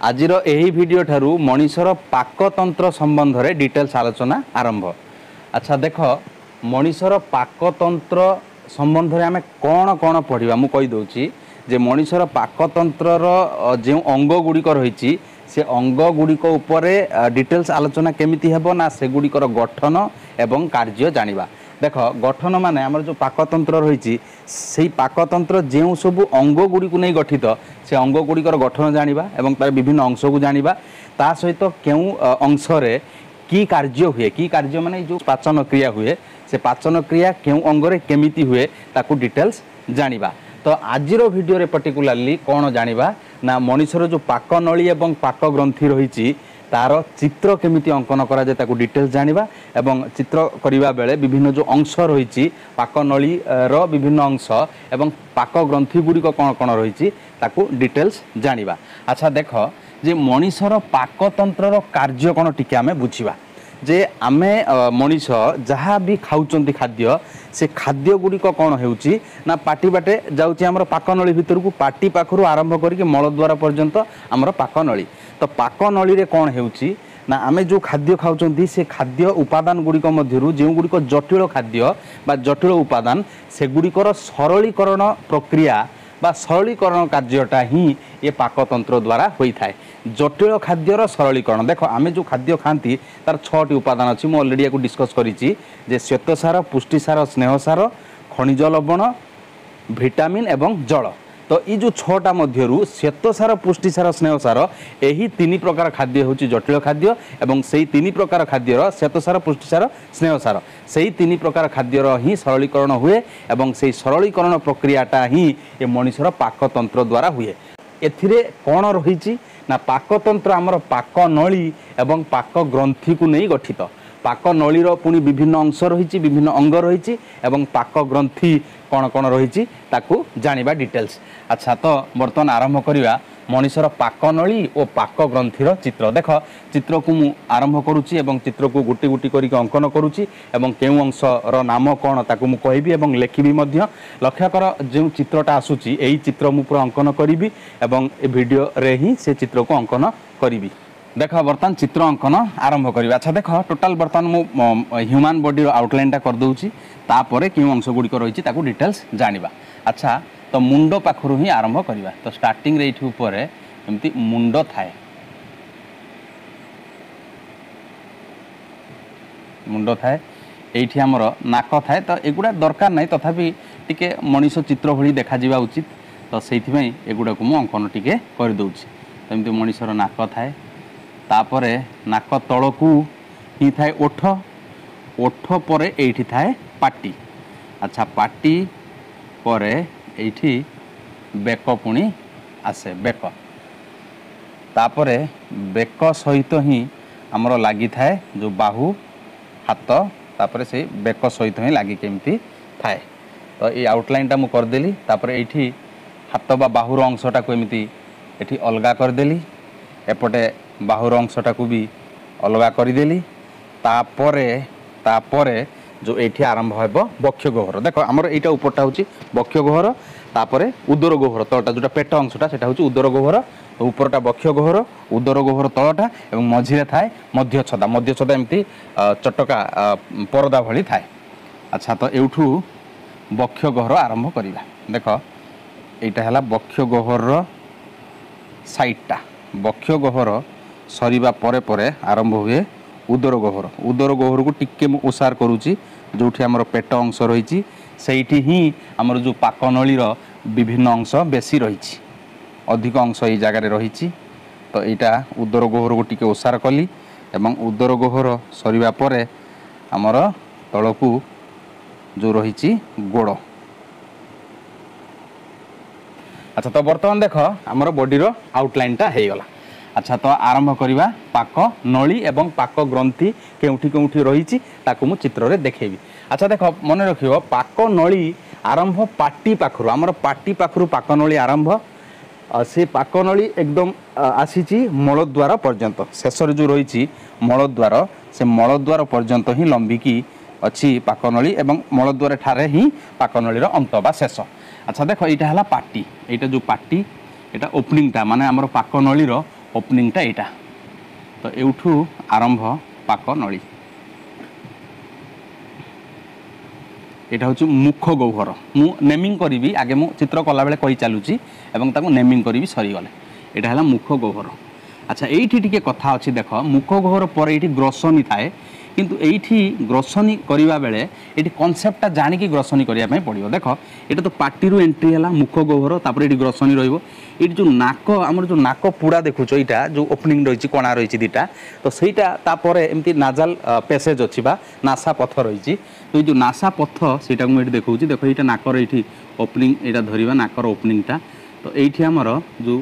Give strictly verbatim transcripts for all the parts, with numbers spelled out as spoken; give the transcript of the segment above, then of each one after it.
ଆଜିର ଏହି ଭିଡ଼ିଓ ଠାରୁ ମଣିଷର ପାକତନ୍ତ୍ର ସମ୍ବନ୍ଧରେ ଡିଟେଲ୍ସ ଆଲୋଚନା ଆରମ୍ଭ। ଆଚ୍ଛା ଦେଖ, ମଣିଷର ପାକତନ୍ତ୍ର ସମ୍ବନ୍ଧରେ ଆମେ କ'ଣ କ'ଣ ପଢ଼ିବା ମୁଁ କହିଦେଉଛି ଯେ ମଣିଷର ପାକତନ୍ତ୍ରର ଯେଉଁ ଅଙ୍ଗ ଗୁଡ଼ିକ ରହିଛି ସେ ଅଙ୍ଗ ଗୁଡ଼ିକ ଉପରେ ଡିଟେଲ୍ସ ଆଲୋଚନା କେମିତି ହେବ ନା ସେଗୁଡ଼ିକର ଗଠନ ଏବଂ କାର୍ଯ୍ୟ ଜାଣିବା। ଦେଖ, ଗଠନ ମାନେ ଆମର ଯେଉଁ ପାକତନ୍ତ୍ର ରହିଛି ସେଇ ପାକତନ୍ତ୍ର ଯେଉଁ ସବୁ ଅଙ୍ଗ ଗୁଡ଼ିକୁ ନେଇ ଗଠିତ ସେ ଅଙ୍ଗ ଗୁଡ଼ିକର ଗଠନ ଜାଣିବା ଏବଂ ତାର ବିଭିନ୍ନ ଅଂଶକୁ ଜାଣିବା। ତା ସହିତ କେଉଁ ଅଂଶରେ କି କାର୍ଯ୍ୟ ହୁଏ, କି କାର୍ଯ୍ୟ ମାନେ ଯେଉଁ ପାଚନ କ୍ରିୟା ହୁଏ ସେ ପାଚନ କ୍ରିୟା କେଉଁ ଅଙ୍ଗରେ କେମିତି ହୁଏ ତାକୁ ଡିଟେଲ୍ସ ଜାଣିବା। ତ ଆଜିର ଭିଡ଼ିଓରେ ପର୍ଟିକୁଲାରଲି କ'ଣ ଜାଣିବା ନା ମଣିଷର ଯେଉଁ ପାକନଳୀ ଏବଂ ପାକ ଗ୍ରନ୍ଥି ରହିଛି ତାର ଚିତ୍ର କେମିତି ଅଙ୍କନ କରାଯାଏ ତାକୁ ଡିଟେଲ୍ସ ଜାଣିବା ଏବଂ ଚିତ୍ର କରିବା ବେଳେ ବିଭିନ୍ନ ଯେଉଁ ଅଂଶ ରହିଛି ପାକନଳୀର ବିଭିନ୍ନ ଅଂଶ ଏବଂ ପାକ ଗ୍ରନ୍ଥି ଗୁଡ଼ିକ କ'ଣ କ'ଣ ରହିଛି ତାକୁ ଡିଟେଲ୍ସ ଜାଣିବା। ଆଚ୍ଛା ଦେଖ ଯେ ମଣିଷର ପାକତନ୍ତ୍ରର କାର୍ଯ୍ୟ କ'ଣ ଟିକେ ଆମେ ବୁଝିବା। ଯେ ଆମେ ମଣିଷ ଯାହା ବି ଖାଉଛନ୍ତି ଖାଦ୍ୟ, ସେ ଖାଦ୍ୟ ଗୁଡ଼ିକ କ'ଣ ହେଉଛି ନା ପାଟି ବାଟେ ଯାଉଛି ଆମର ପାକନଳୀ ଭିତରକୁ, ପାଟି ପାଖରୁ ଆରମ୍ଭ କରିକି ମଳଦ୍ୱାର ପର୍ଯ୍ୟନ୍ତ ଆମର ପାକନଳୀ। ତ ପାକନଳୀରେ କ'ଣ ହେଉଛି ନା ଆମେ ଯେଉଁ ଖାଦ୍ୟ ଖାଉଛନ୍ତି ସେ ଖାଦ୍ୟ ଉପାଦାନ ଗୁଡ଼ିକ ମଧ୍ୟରୁ ଯେଉଁଗୁଡ଼ିକ ଜଟିଳ ଖାଦ୍ୟ ବା ଜଟିଳ ଉପାଦାନ ସେଗୁଡ଼ିକର ସରଳୀକରଣ ପ୍ରକ୍ରିୟା ବା ସରଳୀକରଣ କାର୍ଯ୍ୟଟା ହିଁ ଏ ପାକତନ୍ତ୍ର ଦ୍ୱାରା ହୋଇଥାଏ। ଜଟିଳ ଖାଦ୍ୟର ସରଳୀକରଣ। ଦେଖ, ଆମେ ଯେଉଁ ଖାଦ୍ୟ ଖାଆନ୍ତି ତାର ଛଅଟି ଉପାଦାନ ଅଛି, ମୁଁ ଅଲରେଡ଼ି ୟାକୁ ଡିସ୍କସ୍ କରିଛି ଯେ ଶ୍ୱେତସାର, ପୁଷ୍ଟିସାର, ସ୍ନେହସାର, ଖଣିଜ ଲବଣ, ଭିଟାମିନ୍ ଏବଂ ଜଳ। ତ ଏଇ ଯେଉଁ ଛଅଟା ମଧ୍ୟରୁ ଶ୍ୱେତସାର, ପୁଷ୍ଟିସାର, ସ୍ନେହସାର ଏହି ତିନି ପ୍ରକାର ଖାଦ୍ୟ ହେଉଛି ଜଟିଳ ଖାଦ୍ୟ ଏବଂ ସେଇ ତିନି ପ୍ରକାର ଖାଦ୍ୟର ଶ୍ୱେତସାର, ପୁଷ୍ଟିସାର, ସ୍ନେହସାର ସେଇ ତିନି ପ୍ରକାର ଖାଦ୍ୟର ହିଁ ସରଳୀକରଣ ହୁଏ ଏବଂ ସେଇ ସରଳୀକରଣ ପ୍ରକ୍ରିୟାଟା ହିଁ ଏ ମଣିଷର ପାକତନ୍ତ୍ର ଦ୍ୱାରା ହୁଏ। ଏଥିରେ କ'ଣ ରହିଛି ନା ପାକତନ୍ତ୍ର ଆମର ପାକନଳୀ ଏବଂ ପାକ ଗ୍ରନ୍ଥିକୁ ନେଇ ଗଠିତ। ପାକନଳୀର ପୁଣି ବିଭିନ୍ନ ଅଂଶ ରହିଛି, ବିଭିନ୍ନ ଅଙ୍ଗ ରହିଛି ଏବଂ ପାକ ଗ୍ରନ୍ଥି କ'ଣ କ'ଣ ରହିଛି ତାକୁ ଜାଣିବା ଡିଟେଲ୍ସ। ଆଚ୍ଛା, ତ ବର୍ତ୍ତମାନ ଆରମ୍ଭ କରିବା ମଣିଷର ପାକନଳୀ ଓ ପାକ ଗ୍ରନ୍ଥିର ଚିତ୍ର। ଦେଖ, ଚିତ୍ରକୁ ମୁଁ ଆରମ୍ଭ କରୁଛି ଏବଂ ଚିତ୍ରକୁ ଗୋଟି ଗୋଟି କରିକି ଅଙ୍କନ କରୁଛି ଏବଂ କେଉଁ ଅଂଶର ନାମ କ'ଣ ତାକୁ ମୁଁ କହିବି ଏବଂ ଲେଖିବି ମଧ୍ୟ। ଲକ୍ଷ୍ୟ କର, ଯେଉଁ ଚିତ୍ରଟା ଆସୁଛି ଏଇ ଚିତ୍ର ମୁଁ ପୁରା ଅଙ୍କନ କରିବି ଏବଂ ଏ ଭିଡ଼ିଓରେ ହିଁ ସେ ଚିତ୍ରକୁ ଅଙ୍କନ କରିବି। ଦେଖ, ବର୍ତ୍ତମାନ ଚିତ୍ର ଅଙ୍କନ ଆରମ୍ଭ କରିବା। ଆଚ୍ଛା ଦେଖ, ଟୋଟାଲ ବର୍ତ୍ତମାନ ମୁଁ ହ୍ୟୁମାନ୍ ବଡ଼ିର ଆଉଟଲାଇନ୍ଟା କରିଦେଉଛି, ତାପରେ କେଉଁ ଅଂଶ ଗୁଡ଼ିକ ରହିଛି ତାକୁ ଡିଟେଲ୍ସ ଜାଣିବା। ଆଚ୍ଛା, ତ ମୁଣ୍ଡ ପାଖରୁ ହିଁ ଆରମ୍ଭ କରିବା। ତ ଷ୍ଟାର୍ଟିଂରେ ଏଇଠି ଉପରେ ଏମିତି ମୁଣ୍ଡ ଥାଏ, ମୁଣ୍ଡ ଥାଏ, ଏଇଠି ଆମର ନାକ ଥାଏ। ତ ଏଗୁଡ଼ା ଦରକାର ନାହିଁ, ତଥାପି ଟିକେ ମଣିଷ ଚିତ୍ର ଭଳି ଦେଖାଯିବା ଉଚିତ, ତ ସେଇଥିପାଇଁ ଏଗୁଡ଼ାକୁ ମୁଁ ଅଙ୍କନ ଟିକେ କରିଦେଉଛି। ତ ଏମିତି ମଣିଷର ନାକ ଥାଏ, ତାପରେ ନାକ ତଳକୁ ହିଁ ଥାଏ ଓଠ, ଓଠ ପରେ ଏଇଠି ଥାଏ ପାଟି। ଆଚ୍ଛା, ପାଟି ପରେ ଏଇଠି ବେକ ପୁଣି ଆସେ, ବେକ। ତାପରେ ବେକ ସହିତ ହିଁ ଆମର ଲାଗିଥାଏ ଯେଉଁ ବାହୁ, ହାତ, ତାପରେ ସେଇ ବେକ ସହିତ ହିଁ ଲାଗିକି ଏମିତି ଥାଏ। ତ ଏଇ ଆଉଟଲାଇନ୍ଟା ମୁଁ କରିଦେଲି। ତାପରେ ଏଇଠି ହାତ ବା ବାହୁର ଅଂଶଟାକୁ ଏମିତି ଏଠି ଅଲଗା କରିଦେଲି, ଏପଟେ ବାହୁର ଅଂଶଟାକୁ ବି ଅଲଗା କରିଦେଲି। ତାପରେ ତାପରେ ଯେଉଁ ଏଇଠି ଆରମ୍ଭ ହେବ ବକ୍ଷ ଗହ୍ୱର। ଦେଖ, ଆମର ଏଇଟା ଉପରଟା ହେଉଛି ବକ୍ଷ ଗହ୍ୱର, ତାପରେ ଉଦର ଗହ୍ୱର ତଳଟା ଯେଉଁଟା ପେଟ ଅଂଶଟା ସେଟା ହେଉଛି ଉଦର ଗହ୍ୱର। ତ ଉପରଟା ବକ୍ଷ ଗହ୍ୱର, ଉଦର ଗହ୍ୱର ତଳଟା, ଏବଂ ମଝିରେ ଥାଏ ମଧ୍ୟଛଦା। ମଧ୍ୟଛଦା ଏମିତି ଚଟକା ପରଦା ଭଳି ଥାଏ। ଆଚ୍ଛା, ତ ଏଇଠୁ ବକ୍ଷ ଗହ୍ୱର ଆରମ୍ଭ କରିବା। ଦେଖ, ଏଇଟା ହେଲା ବକ୍ଷ ଗହ୍ୱରର ସାଇଡ଼ଟା। ବକ୍ଷ ଗହ୍ୱର ସରିବା ପରେ ପରେ ଆରମ୍ଭ ହୁଏ ଉଦର ଗହ୍ୱର। ଉଦର ଗହ୍ୱରକୁ ଟିକେ ମୁଁ ଓସାର କରୁଛି, ଯେଉଁଠି ଆମର ପେଟ ଅଂଶ ରହିଛି ସେଇଠି ହିଁ ଆମର ଯେଉଁ ପାକନଳୀର ବିଭିନ୍ନ ଅଂଶ ବେଶୀ ରହିଛି, ଅଧିକ ଅଂଶ ଏଇ ଜାଗାରେ ରହିଛି। ତ ଏଇଟା ଉଦର ଗହ୍ୱରକୁ ଟିକେ ଓସାର କଲି ଏବଂ ଉଦର ଗହ୍ୱର ସରିବା ପରେ ଆମର ତଳକୁ ଯେଉଁ ରହିଛି ଗୋଡ଼। ଆଚ୍ଛା, ତ ବର୍ତ୍ତମାନ ଦେଖ ଆମର ବଡ଼ିର ଆଉଟଲାଇନ୍ଟା ହେଇଗଲା। ଆଚ୍ଛା, ତ ଆରମ୍ଭ କରିବା ପାକ ନଳୀ ଏବଂ ପାକ ଗ୍ରନ୍ଥି କେଉଁଠି କେଉଁଠି ରହିଛି ତାକୁ ମୁଁ ଚିତ୍ରରେ ଦେଖେଇବି। ଆଚ୍ଛା ଦେଖ, ମନେ ରଖିବ ପାକ ନଳୀ ଆରମ୍ଭ ପାଟି ପାଖରୁ, ଆମର ପାଟି ପାଖରୁ ପାକ ନଳୀ ଆରମ୍ଭ। ସେ ପାକ ନଳୀ ଏକଦମ ଆସିଛି ମଳଦ୍ୱାର ପର୍ଯ୍ୟନ୍ତ, ଶେଷରେ ଯେଉଁ ରହିଛି ମଳଦ୍ୱାର, ସେ ମଳଦ୍ୱାର ପର୍ଯ୍ୟନ୍ତ ହିଁ ଲମ୍ବିକି ଅଛି ପାକନଳୀ ଏବଂ ମଳଦ୍ୱାର ଠାରେ ହିଁ ପାକନଳୀର ଅନ୍ତ ବା ଶେଷ। ଆଚ୍ଛା ଦେଖ, ଏଇଟା ହେଲା ପାଟି, ଏଇଟା ଯେଉଁ ପାଟି, ଏଇଟା ଓପନିଂଟା ମାନେ ଆମର ପାକନଳୀର ଓପନିଂଟା ଏଇଟା। ତ ଏଇଠୁ ଆରମ୍ଭ ପାକ ନଳୀ। ଏଇଟା ହେଉଛି ମୁଖ ଗହ୍ୱର। ମୁଁ ନେମିଂ କରିବି ଆଗେ, ମୁଁ ଚିତ୍ର କଲାବେଳେ କହି ଚାଲୁଛି ଏବଂ ତାକୁ ନେମିଂ କରିବି ସରିଗଲେ। ଏଇଟା ହେଲା ମୁଖ ଗହ୍ୱର। ଆଚ୍ଛା, ଏଇଠି ଟିକେ କଥା ଅଛି। ଦେଖ, ମୁଖ ଗହ୍ୱର ପରେ ଏଇଠି ଗ୍ରସନୀ ଥାଏ, କିନ୍ତୁ ଏଇଠି ଗ୍ରସନୀ କରିବା ବେଳେ ଏଇଠି କନସେପ୍ଟଟା ଜାଣିକି ଗ୍ରସନୀ କରିବା ପାଇଁ ପଡ଼ିବ। ଦେଖ, ଏଇଟା ତ ପାଟିରୁ ଏଣ୍ଟ୍ରି ହେଲା ମୁଖ ଗହ୍ୱର, ତାପରେ ଏଇଠି ଗ୍ରସନୀ ରହିବ। ଏଇଠି ଯେଉଁ ନାକ, ଆମର ଯେଉଁ ନାକ ପୁଡ଼ା ଦେଖୁଛ, ଏଇଟା ଯେଉଁ ଓପନିଂ ରହିଛି, କଣା ରହିଛି ଦୁଇଟା, ତ ସେଇଟା ତାପରେ ଏମିତି ନାଜାଲ ପ୍ୟାସେଜ୍ ଅଛି ବା ନାସା ପଥ ରହିଛି। ତ ଏଇ ଯେଉଁ ନାସା ପଥ, ସେଇଟାକୁ ମୁଁ ଏଇଠି ଦେଖାଉଛି। ଦେଖ, ଏଇଟା ନାକର ଏଇଠି ଓପନିଂ, ଏଇଟା ଧରିବା ନାକର ଓପନିଂଟା। ତ ଏଇଠି ଆମର ଯେଉଁ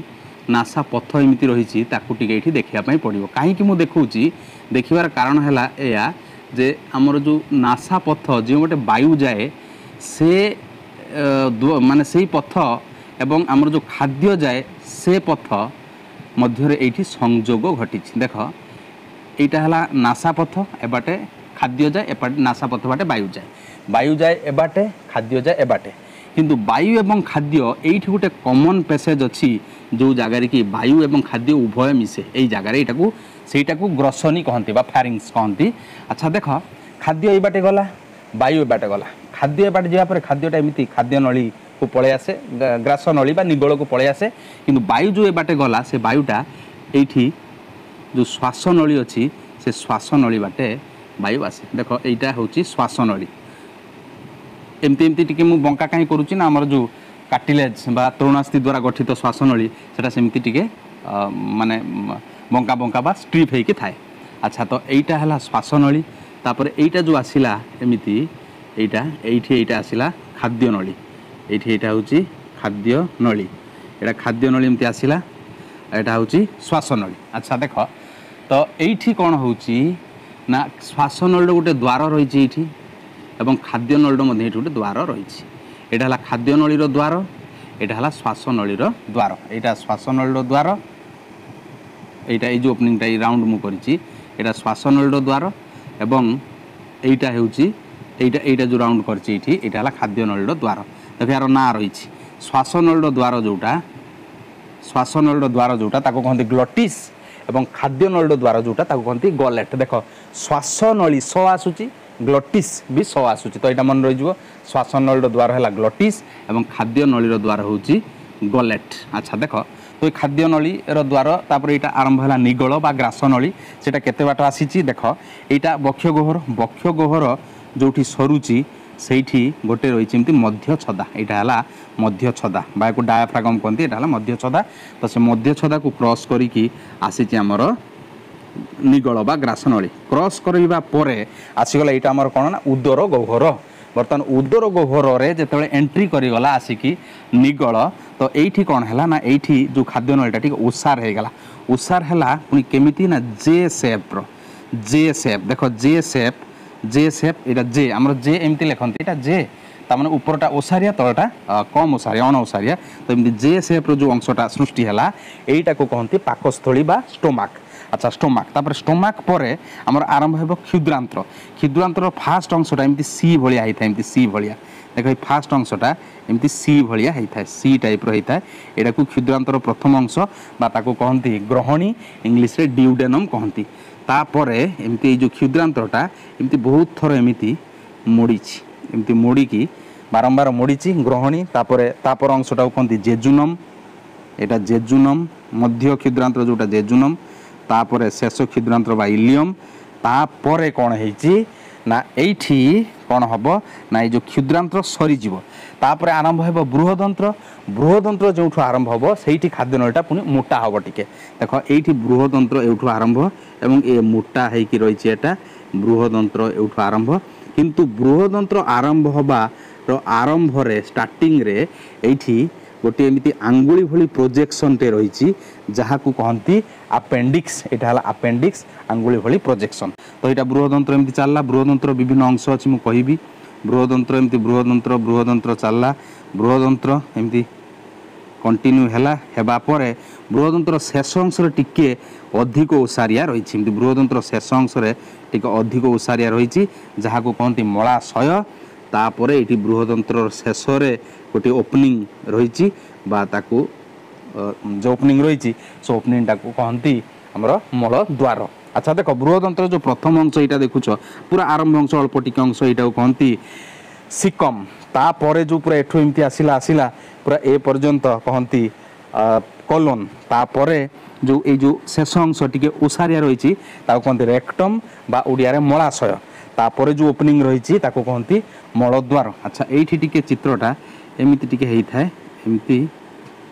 ନାସା ପଥ ଏମିତି ରହିଛି, ତାକୁ ଟିକେ ଏଇଠି ଦେଖିବା ପାଇଁ ପଡ଼ିବ। କାହିଁକି ମୁଁ ଦେଖାଉଛି? ଦେଖିବାର କାରଣ ହେଲା ଏଇଆ ଯେ ଆମର ଯେଉଁ ନାସା ପଥ, ଯେଉଁ ଗୋଟେ ବାୟୁ ଯାଏ ସେ ମାନେ ସେଇ ପଥ ଏବଂ ଆମର ଯେଉଁ ଖାଦ୍ୟ ଯାଏ ସେ ପଥ ମଧ୍ୟରେ ଏଇଠି ସଂଯୋଗ ଘଟିଛି। ଦେଖ, ଏଇଟା ହେଲା ନାସା ପଥ, ଏବାଟେ ଖାଦ୍ୟ ଯାଏ, ଏବାଟେ ନାସା ପଥ ବାଟେ ବାୟୁ ଯାଏ। ବାୟୁ ଯାଏ ଏବାଟେ, ଖାଦ୍ୟ ଯାଏ ଏବାଟେ। କିନ୍ତୁ ବାୟୁ ଏବଂ ଖାଦ୍ୟ ଏଇଠି ଗୋଟେ କମନ୍ ପ୍ୟାସେଜ୍ ଅଛି, ଯେଉଁ ଜାଗାରେ କି ବାୟୁ ଏବଂ ଖାଦ୍ୟ ଉଭୟ ମିଶେ ଏଇ ଜାଗାରେ, ଏଇଟାକୁ ସେଇଟାକୁ ଗ୍ରସନୀ କହନ୍ତି ବା ଫ୍ୟାରିଙ୍ଗସ୍ କହନ୍ତି। ଆଚ୍ଛା, ଦେଖ, ଖାଦ୍ୟ ଏଇ ବାଟେ ଗଲା, ବାୟୁ ଏ ବାଟେ ଗଲା। ଖାଦ୍ୟ ଏ ବାଟେ ଯିବା ପରେ ଖାଦ୍ୟଟା ଏମିତି ଖାଦ୍ୟ ନଳୀକୁ ପଳେଇ ଆସେ, ଗ୍ରାସ ନଳୀ ବା ନିଗଳକୁ ପଳେଇ ଆସେ। କିନ୍ତୁ ବାୟୁ ଯେଉଁ ଏ ବାଟେ ଗଲା, ସେ ବାୟୁଟା ଏଇଠି ଯେଉଁ ଶ୍ୱାସ ନଳୀ ଅଛି, ସେ ଶ୍ୱାସ ନଳୀ ବାଟେ ବାୟୁ ଆସେ। ଦେଖ, ଏଇଟା ହେଉଛି ଶ୍ୱାସ ନଳୀ। ଏମିତି ଏମିତି ଟିକେ ମୁଁ ବଙ୍କା କାହିଁ କରୁଛି ନା, ଆମର ଯେଉଁ କାଟିଲେଜ୍ ବା ତରୁଣାସ୍ଥି ଦ୍ୱାରା ଗଠିତ ଶ୍ୱାସନଳୀ, ସେଟା ସେମିତି ଟିକେ ମାନେ ବଙ୍କା ବଙ୍କା ବା ଷ୍ଟ୍ରିପ୍ ହେଇକି ଥାଏ। ଆଚ୍ଛା, ତ ଏଇଟା ହେଲା ଶ୍ୱାସନଳୀ। ତାପରେ ଏଇଟା ଯେଉଁ ଆସିଲା ଏମିତି, ଏଇଟା ଏଇଠି ଏଇଟା ଆସିଲା ଖାଦ୍ୟ ନଳୀ। ଏଇଠି ଏଇଟା ହେଉଛି ଖାଦ୍ୟ ନଳୀ। ଏଇଟା ଖାଦ୍ୟ ନଳୀ ଏମିତି ଆସିଲା, ଏଇଟା ହେଉଛି ଶ୍ୱାସନଳୀ। ଆଚ୍ଛା, ଦେଖ ତ ଏଇଠି କ'ଣ ହେଉଛି ନା, ଶ୍ୱାସନଳୀର ଗୋଟେ ଦ୍ୱାର ରହିଛି ଏଇଠି ଏବଂ ଖାଦ୍ୟ ନଳୀର ମଧ୍ୟ ଏଇଠି ଗୋଟେ ଦ୍ୱାର ରହିଛି। ଏଇଟା ହେଲା ଖାଦ୍ୟ ନଳୀର ଦ୍ୱାର, ଏଇଟା ହେଲା ଶ୍ୱାସନଳୀର ଦ୍ୱାର। ଏଇଟା ଶ୍ୱାସନଳୀର ଦ୍ୱାର, ଏଇଟା ଏଇ ଯେଉଁ ଓପନିଂଟା ଏଇ ରାଉଣ୍ଡ ମୁଁ କରିଛି, ଏଇଟା ଶ୍ୱାସନଳୀର ଦ୍ୱାର ଏବଂ ଏଇଟା ହେଉଛି ଏଇଟା ଏଇଟା ଯେଉଁ ରାଉଣ୍ଡ କରିଛି ଏଇଠି, ଏଇଟା ହେଲା ଖାଦ୍ୟ ନଳୀର ଦ୍ୱାର। ଦେଖ, ଏହାର ନାଁ ରହିଛି। ଶ୍ୱାସନଳୀର ଦ୍ୱାର ଯେଉଁଟା, ଶ୍ୱାସନଳୀର ଦ୍ୱାର ଯେଉଁଟା ତାକୁ କହନ୍ତି ଗ୍ଲଟିସ୍ ଏବଂ ଖାଦ୍ୟ ନଳୀର ଦ୍ୱାର ଯେଉଁଟା ତାକୁ କହନ୍ତି ଗଲେଟ୍। ଦେଖ, ଶ୍ୱାସନଳୀ ସ ଆସୁଛି, ଗ୍ଲଟିସ୍ ବି ସ ଆସୁଛି, ତ ଏଇଟା ମନେ ରହିଯିବ। ଶ୍ୱାସନଳୀର ଦ୍ୱାର ହେଲା ଗ୍ଲଟିସ୍ ଏବଂ ଖାଦ୍ୟ ନଳୀର ଦ୍ୱାର ହେଉଛି ଗଲେଟ୍। ଆଚ୍ଛା, ଦେଖ ତ ଏଇ ଖାଦ୍ୟ ନଳୀର ଦ୍ୱାର, ତାପରେ ଏଇଟା ଆରମ୍ଭ ହେଲା ନିଗଳ ବା ଗ୍ରାସ ନଳୀ। ସେଟା କେତେ ବାଟ ଆସିଛି ଦେଖ। ଏଇଟା ବକ୍ଷ ଗହ୍ୱର। ବକ୍ଷ ଗହ୍ୱର ଯେଉଁଠି ସରୁଛି, ସେଇଠି ଗୋଟେ ରହିଛି ଏମିତି ମଧ୍ୟଛଦା। ଏଇଟା ହେଲା ମଧ୍ୟଛଦା ବା ଏକୁ ଡାୟାଫ୍ରାଗମ୍ କହନ୍ତି। ଏଇଟା ହେଲା ମଧ୍ୟଛଦା। ତ ସେ ମଧ୍ୟଛଦାକୁ କ୍ରସ୍ କରିକି ଆସିଛି ଆମର ନିଗଳ ବା ଗ୍ରାସନଳୀ। କ୍ରସ୍ କରିବା ପରେ ଆସିଗଲା ଏଇଟା ଆମର କ'ଣ ନା ଉଦର ଗହ୍ୱର। ବର୍ତ୍ତମାନ ଉଦର ଗହ୍ୱରରେ ଯେତେବେଳେ ଏଣ୍ଟ୍ରି କରିଗଲା ଆସିକି ନିଗଳ, ତ ଏଇଠି କ'ଣ ହେଲା ନା, ଏଇଠି ଯେଉଁ ଖାଦ୍ୟ ନଳୀଟା ଟିକେ ଓସାର ହେଇଗଲା। ଓସାର ହେଲା ପୁଣି କେମିତି ନା ଜେ ସେପ୍ର, ଜେ ସେପ୍। ଦେଖ, ଜେ ସେପ୍, ଜେ ସେପ୍, ଏଇଟା ଜେ, ଆମର ଜେ ଏମିତି ଲେଖନ୍ତି। ଏଇଟା ଜେ, ତାମାନେ ଉପରଟା ଓସାରିଆ, ତଳଟା କମ୍ ଓସାରିଆ, ଅଣ ଓସାରିଆ। ତ ଏମିତି ଜେ ସେପ୍ର ଯେଉଁ ଅଂଶଟା ସୃଷ୍ଟି ହେଲା, ଏଇଟାକୁ କହନ୍ତି ପାକସ୍ଥଳୀ ବା ଷ୍ଟୋମାକ୍। ଆଚ୍ଛା, ଷ୍ଟୋମାକ୍। ତାପରେ ଷ୍ଟୋମାକ୍ ପରେ ଆମର ଆରମ୍ଭ ହେବ କ୍ଷୁଦ୍ରାନ୍ତ୍ର। କ୍ଷୁଦ୍ରାନ୍ତ୍ରର ଫାଷ୍ଟ ଅଂଶଟା ଏମିତି ସି ଭଳିଆ ହେଇଥାଏ, ଏମିତି ସି ଭଳିଆ। ଦେଖ, ଏଇ ଫାଷ୍ଟ ଅଂଶଟା ଏମିତି ସି ଭଳିଆ ହେଇଥାଏ, ସି ଟାଇପ୍ର ହେଇଥାଏ। ଏଇଟାକୁ କ୍ଷୁଦ୍ରାନ୍ତର ପ୍ରଥମ ଅଂଶ ବା ତାକୁ କହନ୍ତି ଗ୍ରହଣୀ, ଇଂଲିଶରେ ଡିଉଡେନମ୍ କହନ୍ତି। ତାପରେ ଏମିତି ଏଇ ଯେଉଁ କ୍ଷୁଦ୍ରାନ୍ତରଟା ଏମିତି ବହୁତ ଥର ଏମିତି ମୋଡ଼ିଛି, ଏମିତି ମୋଡ଼ିକି ବାରମ୍ବାର ମୋଡ଼ିଛି ଗ୍ରହଣୀ। ତାପରେ ତାପର ଅଂଶଟାକୁ କହନ୍ତି ଜେଜୁନମ୍। ଏଇଟା ଜେଜୁନମ୍, ମଧ୍ୟ କ୍ଷୁଦ୍ରାନ୍ତ୍ର ଯେଉଁଟା ଜେଜୁନମ୍। ତାପରେ ଶେଷ କ୍ଷୁଦ୍ରାନ୍ତ୍ର ବା ଇଲିୟମ୍। ତାପରେ କ'ଣ ହେଇଛି ନା, ଏଇଠି କ'ଣ ହେବ ନା, ଏଇ ଯେଉଁ କ୍ଷୁଦ୍ରାନ୍ତ୍ର ସରିଯିବ, ତାପରେ ଆରମ୍ଭ ହେବ ବୃହଦନ୍ତ୍ର। ବୃହଦନ୍ତ୍ର ଯେଉଁଠୁ ଆରମ୍ଭ ହେବ, ସେଇଠି ଖାଦ୍ୟନଳୀଟା ପୁଣି ମୋଟା ହେବ ଟିକେ। ଦେଖ, ଏଇଠି ବୃହଦନ୍ତ୍ର ଏଇଠୁ ଆରମ୍ଭ ଏବଂ ଏ ମୋଟା ହେଇକି ରହିଛି। ଏଟା ବୃହଦନ୍ତ୍ର ଏଇଠୁ ଆରମ୍ଭ। କିନ୍ତୁ ବୃହଦନ୍ତ୍ର ଆରମ୍ଭ ହେବାର ଆରମ୍ଭରେ, ଷ୍ଟାର୍ଟିଂରେ ଏଇଠି ଗୋଟିଏ ଏମିତି ଆଙ୍ଗୁଳି ଭଳି ପ୍ରୋଜେକ୍ସନ୍ଟେ ରହିଛି, ଯାହାକୁ କହନ୍ତି ଆପେଣ୍ଡିକ୍ସ। ଏଇଟା ହେଲା ଆପେଣ୍ଡିକ୍ସ, ଆଙ୍ଗୁଳି ଭଳି ପ୍ରୋଜେକ୍ସନ୍। ତ ଏଇଟା ବୃହଦନ୍ତ୍ର ଏମିତି ଚାଲିଲା। ବୃହଦନ୍ତ୍ର ବିଭିନ୍ନ ଅଂଶ ଅଛି, ମୁଁ କହିବି। ବୃହଦନ୍ତ୍ର ଏମିତି ବୃହଦନ୍ତ୍ର ବୃହଦନ୍ତ୍ର ଚାଲିଲା। ବୃହଦନ୍ତ୍ର ଏମିତି କଣ୍ଟିନ୍ୟୁ ହେଲା। ହେବା ପରେ ବୃହଦନ୍ତ୍ର ଶେଷ ଅଂଶରେ ଟିକେ ଅଧିକ ଓସାରିଆ ରହିଛି। ଏମିତି ବୃହଦନ୍ତ୍ର ଶେଷ ଅଂଶରେ ଟିକେ ଅଧିକ ଓସାରିଆ ରହିଛି, ଯାହାକୁ କହନ୍ତି ମଳାଶୟ। ତାପରେ ଏଇଠି ବୃହଦନ୍ତ୍ରର ଶେଷରେ ଗୋଟିଏ ଓପନିଂ ରହିଛି ବା ତାକୁ ଯେଉଁ ଓପନିଂ ରହିଛି ସେ ଓପନିଂଟାକୁ କହନ୍ତି ଆମର ମଳଦ୍ୱାର। ଆଚ୍ଛା ଦେଖ, ବୃହଦନ୍ତ୍ର ଯେଉଁ ପ୍ରଥମ ଅଂଶ ଏଇଟା ଦେଖୁଛ, ପୁରା ଆରମ୍ଭ ଅଂଶ, ଅଳ୍ପ ଟିକେ ଅଂଶ, ଏଇଟାକୁ କହନ୍ତି ସିକମ୍। ତାପରେ ଯେଉଁ ପୁରା ଏଠୁ ଏମିତି ଆସିଲା ଆସିଲା ପୁରା ଏ ପର୍ଯ୍ୟନ୍ତ କହନ୍ତି କଲୋନ୍। ତାପରେ ଯେଉଁ ଏଇ ଯେଉଁ ଶେଷ ଅଂଶ ଟିକେ ଓସାରିଆ ରହିଛି ତାକୁ କହନ୍ତି ରେକ୍ଟମ୍ ବା ଓଡ଼ିଆରେ ମଳାଶୟ। ତାପରେ ଯେଉଁ ଓପନିଂ ରହିଛି ତାକୁ କହନ୍ତି ମଳଦ୍ୱାର। ଆଚ୍ଛା, ଏଇଠି ଟିକେ ଚିତ୍ରଟା ଏମିତି ଟିକେ ହେଇଥାଏ, ଏମିତି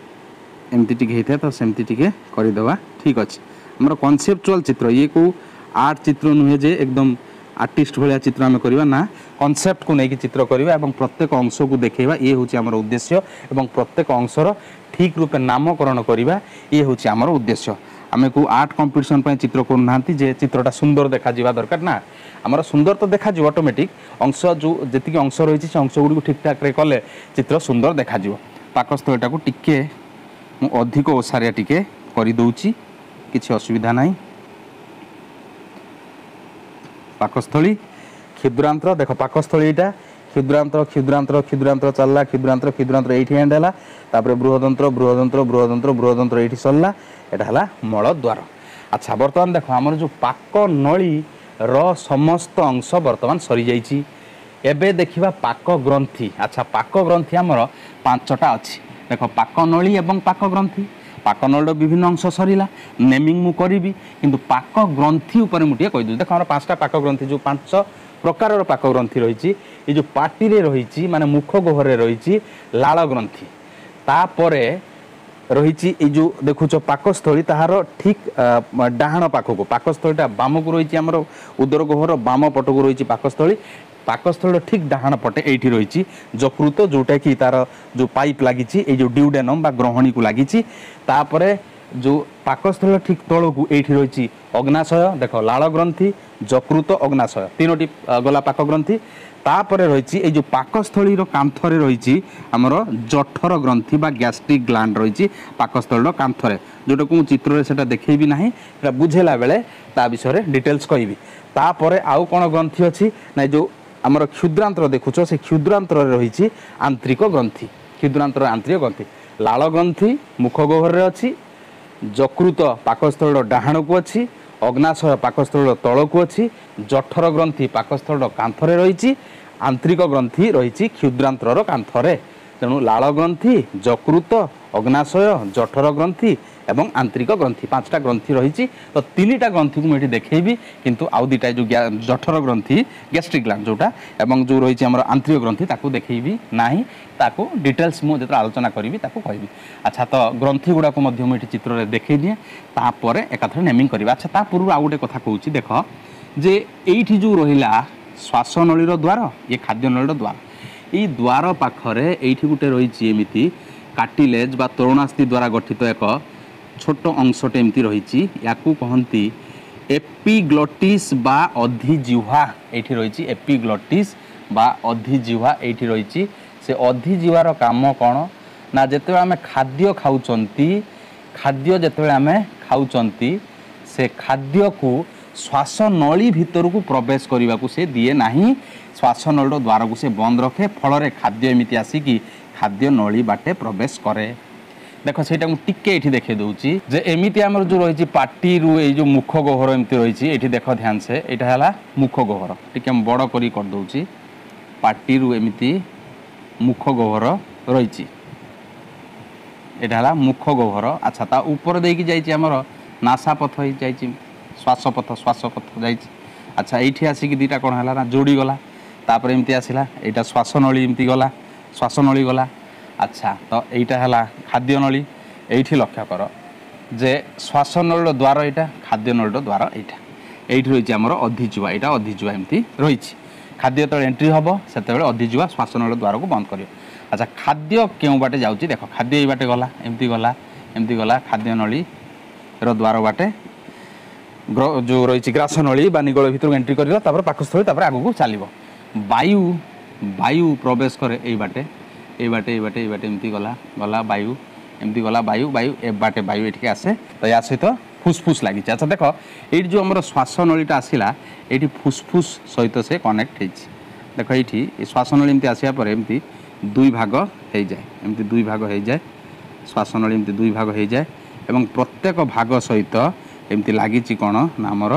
ଏମିତି ଟିକେ ହେଇଥାଏ, ତ ସେମିତି ଟିକେ କରିଦେବା। ଠିକ୍ ଅଛି, ଆମର କନସେପଚୁଆଲ ଚିତ୍ର, ଇଏ କେଉଁ ଆର୍ଟ ଚିତ୍ର ନୁହେଁ ଯେ ଏକଦମ ଆର୍ଟିଷ୍ଟ ଭଳିଆ ଚିତ୍ର ଆମେ କରିବା ନା, କନସେପ୍ଟକୁ ନେଇକି ଚିତ୍ର କରିବା ଏବଂ ପ୍ରତ୍ୟେକ ଅଂଶକୁ ଦେଖେଇବା, ଇଏ ହେଉଛି ଆମର ଉଦ୍ଦେଶ୍ୟ। ଏବଂ ପ୍ରତ୍ୟେକ ଅଂଶର ଠିକ୍ ରୂପେ ନାମକରଣ କରିବା, ଇଏ ହେଉଛି ଆମର ଉଦ୍ଦେଶ୍ୟ। ଆମେ କେଉଁ ଆର୍ଟ କମ୍ପିଟିସନ୍ ପାଇଁ ଚିତ୍ର କରୁନାହାନ୍ତି ଯେ ଚିତ୍ରଟା ସୁନ୍ଦର ଦେଖାଯିବା ଦରକାର ନା, ଆମର ସୁନ୍ଦର ତ ଦେଖାଯିବ ଅଟୋମେଟିକ୍, ଅଂଶ ଯେଉଁ ଯେତିକି ଅଂଶ ରହିଛି ସେ ଅଂଶ ଗୁଡ଼ିକୁ ଠିକ୍ଠାକ୍ରେ କଲେ ଚିତ୍ର ସୁନ୍ଦର ଦେଖାଯିବ। ପାକସ୍ଥଳୀଟାକୁ ଟିକେ ମୁଁ ଅଧିକ ଓସାରିଆ ଟିକେ କରିଦେଉଛି, କିଛି ଅସୁବିଧା ନାହିଁ। ପାକସ୍ଥଳୀ, କ୍ଷୁଦ୍ରାନ୍ତ୍ର, ଦେଖ ପାକସ୍ଥଳୀ ଏଇଟା କ୍ଷୁଦ୍ରାନ୍ତ୍ର, କ୍ଷୁଦ୍ରାନ୍ତ୍ର, କ୍ଷୁଦ୍ରାନ୍ତ୍ର ଚାଲିଲା, କ୍ଷୁଦ୍ରାନ୍ତ୍ର, କ୍ଷୁଦ୍ରାନ୍ତ୍ର ଏଇଠି ଏଣ୍ଡ ହେଲା। ତାପରେ ବୃହଦନ୍ତ୍ର, ବୃହଦନ୍ତ୍ର, ବୃହଦନ୍ତ୍ର, ବୃହଦନ୍ତ୍ର ଏଇଠି ସରିଲା, ଏଇଟା ହେଲା ମଳଦ୍ୱାର। ଆଚ୍ଛା, ବର୍ତ୍ତମାନ ଦେଖ ଆମର ଯେଉଁ ପାକ ନଳୀର ସମସ୍ତ ଅଂଶ ବର୍ତ୍ତମାନ ସରିଯାଇଛି। ଏବେ ଦେଖିବା ପାକ ଗ୍ରନ୍ଥି। ଆଚ୍ଛା, ପାକ ଗ୍ରନ୍ଥି ଆମର ପାଞ୍ଚଟା ଅଛି। ଦେଖ, ପାକ ନଳୀ ଏବଂ ପାକ ଗ୍ରନ୍ଥି। ପାକ ନଳୀର ବିଭିନ୍ନ ଅଂଶ ସରିଲା, ନେମିଂ ମୁଁ କରିବି, କିନ୍ତୁ ପାକ ଗ୍ରନ୍ଥି ଉପରେ ମୁଁ ଟିକେ କହିଦେଉଛି। ଦେଖ, ଆମର ପାଞ୍ଚଟା ପାକ ଗ୍ରନ୍ଥି, ଯେଉଁ ପାଞ୍ଚ ପ୍ରକାରର ପାକ ଗ୍ରନ୍ଥି ରହିଛି, ଏ ଯେଉଁ ପାଟିରେ ରହିଛି ମାନେ ମୁଖ ଗହ୍ୱରରେ ରହିଛି ଲାଳ ଗ୍ରନ୍ଥି। ତାପରେ ରହିଛି ଏଇ ଯେଉଁ ଦେଖୁଛ ପାକସ୍ଥଳୀ, ତାହାର ଠିକ୍ ଡାହାଣ ପାଖକୁ ପାକସ୍ଥଳୀଟା ବାମକୁ ରହିଛି, ଆମର ଉଦର ଗହ୍ୱର ବାମ ପଟକୁ ରହିଛି ପାକସ୍ଥଳୀ। ପାକସ୍ଥଳୀର ଠିକ୍ ଡାହାଣ ପଟେ ଏଇଠି ରହିଛି ଯକୃତ, ଯେଉଁଟାକି ତାର ଯେଉଁ ପାଇପ୍ ଲାଗିଛି ଏଇ ଯେଉଁ ଡିଉଡେନମ୍ ବା ଗ୍ରହଣୀକୁ ଲାଗିଛି। ତାପରେ ଯେଉଁ ପାକସ୍ଥଳୀର ଠିକ୍ ତଳକୁ ଏଇଠି ରହିଛି ଅଗ୍ନାଶୟ। ଦେଖ, ଲାଳ ଗ୍ରନ୍ଥି, ଯକୃତ, ଅଗ୍ନାଶୟ, ତିନୋଟି ଗଲା ପାକ ଗ୍ରନ୍ଥି। ତାପରେ ରହିଛି ଏଇ ଯେଉଁ ପାକସ୍ଥଳୀର କାନ୍ଥରେ ରହିଛି ଆମର ଜଠର ଗ୍ରନ୍ଥି ବା ଗ୍ୟାଷ୍ଟ୍ରିକ୍ ଗ୍ଲାଣ୍ଡ ରହିଛି ପାକସ୍ଥଳୀର କାନ୍ଥରେ, ଯେଉଁଟାକୁ ମୁଁ ଚିତ୍ରରେ ସେଟା ଦେଖେଇବି ନାହିଁ, ସେଟା ବୁଝେଇଲା ବେଳେ ତା ବିଷୟରେ ଡିଟେଲ୍ସ କହିବି। ତାପରେ ଆଉ କ'ଣ ଗ୍ରନ୍ଥି ଅଛି ନା, ଏ ଯେଉଁ ଆମର କ୍ଷୁଦ୍ରାନ୍ତ୍ର ଦେଖୁଛ, ସେ କ୍ଷୁଦ୍ରାନ୍ତ୍ରରେ ରହିଛି ଆନ୍ତରିକ ଗ୍ରନ୍ଥି। କ୍ଷୁଦ୍ରାନ୍ତର ଆନ୍ତରିକ ଗ୍ରନ୍ଥି, ଲାଳ ଗ୍ରନ୍ଥି ମୁଖ ଗହ୍ୱରରେ ଅଛି, ଯକୃତ ପାକସ୍ଥଳୀର ଡାହାଣକୁ ଅଛି, ଅଗ୍ନାଶୟ ପାକସ୍ଥଳୀର ତଳକୁ ଅଛି, ଜଠର ଗ୍ରନ୍ଥି ପାକସ୍ଥଳୀର କାନ୍ଥରେ ରହିଛି, ଆନ୍ତରିକ ଗ୍ରନ୍ଥି ରହିଛି କ୍ଷୁଦ୍ରାନ୍ତ୍ରର କାନ୍ଥରେ। ତେଣୁ ଲାଳ ଗ୍ରନ୍ଥି, ଯକୃତ, ଅଗ୍ନାଶୟ, ଜଠର ଗ୍ରନ୍ଥି ଏବଂ ଆନ୍ତରିକ ଗ୍ରନ୍ଥି, ପାଞ୍ଚଟା ଗ୍ରନ୍ଥି ରହିଛି। ତ ତିନିଟା ଗ୍ରନ୍ଥିକୁ ମୁଁ ଏଠି ଦେଖେଇବି, କିନ୍ତୁ ଆଉ ଦୁଇଟା ଯେଉଁ ଜଠର ଗ୍ରନ୍ଥି ଗ୍ୟାଷ୍ଟ୍ରିକ୍ ଗ୍ଲାଣ୍ଡ ଯେଉଁଟା ଏବଂ ଯେଉଁ ରହିଛି ଆମର ଆନ୍ତରିକ ଗ୍ରନ୍ଥି ତାକୁ ଦେଖେଇବି ନାହିଁ, ତାକୁ ଡିଟେଲ୍ସ ମୁଁ ଯେତେବେଳେ ଆଲୋଚନା କରିବି ତାକୁ କହିବି। ଆଚ୍ଛା, ତ ଗ୍ରନ୍ଥି ଗୁଡ଼ାକୁ ମଧ୍ୟ ମୁଁ ଏଠି ଚିତ୍ରରେ ଦେଖେଇ ଦିଏ, ତାପରେ ଏକାଥରେ ନେମିଂ କରିବା। ଆଚ୍ଛା, ତା ପୂର୍ବରୁ ଆଉ ଗୋଟେ କଥା କହୁଛି। ଦେଖ ଯେ ଏଇଠି ଯେଉଁ ରହିଲା ଶ୍ୱାସନଳୀର ଦ୍ୱାର, ଇଏ ଖାଦ୍ୟନଳୀର ଦ୍ୱାର, ଏଇ ଦ୍ୱାର ପାଖରେ ଏଇଠି ଗୋଟେ ରହିଛି ଏମିତି କାର୍ଟିଲେଜ୍ ବା ତରୁଣାସ୍ଥି ଦ୍ୱାରା ଗଠିତ ଏକ ଛୋଟ ଅଂଶଟେ ଏମିତି ରହିଛି, ୟାକୁ କହନ୍ତି ଏପିଗ୍ଲଟିସ୍ ବା ଅଧିଜିହ୍ୱା। ଏଇଠି ରହିଛି ଏପିଗ୍ଲଟିସ୍ ବା ଅଧିଜିହ୍ୱା, ଏଇଠି ରହିଛି। ସେ ଅଧିଜିହ୍ୱାର କାମ କ'ଣ ନା, ଯେତେବେଳେ ଆମେ ଖାଦ୍ୟ ଖାଉଛନ୍ତି, ଖାଦ୍ୟ ଯେତେବେଳେ ଆମେ ଖାଉଛନ୍ତି ସେ ଖାଦ୍ୟକୁ ଶ୍ୱାସନଳୀ ଭିତରକୁ ପ୍ରବେଶ କରିବାକୁ ସେ ଦିଏ ନାହିଁ, ଶ୍ୱାସନଳୀର ଦ୍ୱାରକୁ ସେ ବନ୍ଦ ରଖେ, ଫଳରେ ଖାଦ୍ୟ ଏମିତି ଆସିକି ଖାଦ୍ୟ ନଳୀ ବାଟେ ପ୍ରବେଶ କରେ। ଦେଖ, ସେଇଟା ମୁଁ ଟିକେ ଏଇଠି ଦେଖେଇ ଦେଉଛି ଯେ ଏମିତି ଆମର ଯେଉଁ ରହିଛି ପାଟିରୁ ଏଇ ଯେଉଁ ମୁଖ ଗହ୍ୱର ଏମିତି ରହିଛି, ଏଇଠି ଦେଖ ଧ୍ୟାନ ସେ, ଏଇଟା ହେଲା ମୁଖ ଗହ୍ୱର, ଟିକେ ମୁଁ ବଡ଼ କରି କରିଦେଉଛି। ପାଟିରୁ ଏମିତି ମୁଖ ଗହ୍ୱର ରହିଛି, ଏଇଟା ହେଲା ମୁଖ ଗହ୍ୱର। ଆଚ୍ଛା, ତା ଉପରେ ଦେଇକି ଯାଇଛି ଆମର ନାସାପଥ ହେଇଯାଇଛି, ଶ୍ୱାସପଥ, ଶ୍ୱାସପଥ ଯାଇଛି। ଆଚ୍ଛା, ଏଇଠି ଆସିକି ଦୁଇଟା କ'ଣ ହେଲା ନା ଯୋଡ଼ିଗଲା, ତାପରେ ଏମିତି ଆସିଲା, ଏଇଟା ଶ୍ୱାସନଳୀ ଏମିତି ଗଲା, ଶ୍ୱାସନଳୀ ଗଲା। ଆଚ୍ଛା, ତ ଏଇଟା ହେଲା ଖାଦ୍ୟନଳୀ। ଏଇଠି ଲକ୍ଷ୍ୟ କର ଯେ ଶ୍ୱାସନଳୀର ଦ୍ୱାର ଏଇଟା, ଖାଦ୍ୟନଳୀର ଦ୍ୱାର ଏଇଟା, ଏଇଠି ରହିଛି ଆମର ଅଧିଜିହ୍ୱା, ଏଇଟା ଅଧିଜିହ୍ୱା ଏମିତି ରହିଛି। ଖାଦ୍ୟ ଯେତେବେଳେ ଏଣ୍ଟ୍ରି ହେବ ସେତେବେଳେ ଅଧିଜିହ୍ୱା ଶ୍ୱାସନଳୀର ଦ୍ୱାରକୁ ବନ୍ଦ କରିବ। ଆଚ୍ଛା, ଖାଦ୍ୟ କେଉଁ ବାଟେ ଯାଉଛି ଦେଖ, ଖାଦ୍ୟ ଏଇ ବାଟେ ଗଲା, ଏମିତି ଗଲା, ଏମିତି ଗଲା, ଖାଦ୍ୟନଳୀର ଦ୍ୱାର ବାଟେ ଯେଉଁ ରହିଛି ଗ୍ରାସନଳୀ ବା ନିଗଳ ଭିତରକୁ ଏଣ୍ଟ୍ରି କରିଲା, ତାପରେ ପାକସ୍ଥଳୀ, ତାପରେ ଆଗକୁ ଚାଲିବ। ବାୟୁ, ବାୟୁ ପ୍ରବେଶ କରେ ଏଇ ବାଟେ, ଏଇ ବାଟେ, ଏଇ ବାଟେ, ଏଇ ବାଟେ ଏମିତି ଗଲା, ଗଲା ବାୟୁ, ଏମିତି ଗଲା ବାୟୁ, ବାୟୁ ଏ ବାଟେ ବାୟୁ ଏଠିକି ଆସେ। ତ ୟା ସହିତ ଫୁସଫୁସ ଲାଗିଛି। ଆଚ୍ଛା ଦେଖ, ଏଇଠି ଯେଉଁ ଆମର ଶ୍ୱାସନଳୀଟା ଆସିଲା, ଏଇଠି ଫୁସଫୁସ ସହିତ ସେ କନେକ୍ଟ ହେଇଛି। ଦେଖ, ଏଇଠି ଏ ଶ୍ୱାସନଳୀ ଏମିତି ଆସିବା ପରେ ଏମିତି ଦୁଇ ଭାଗ ହେଇଯାଏ, ଏମିତି ଦୁଇ ଭାଗ ହେଇଯାଏ। ଶ୍ୱାସନଳୀ ଏମିତି ଦୁଇ ଭାଗ ହେଇଯାଏ ଏବଂ ପ୍ରତ୍ୟେକ ଭାଗ ସହିତ ଏମିତି ଲାଗିଛି କ'ଣ ନା ଆମର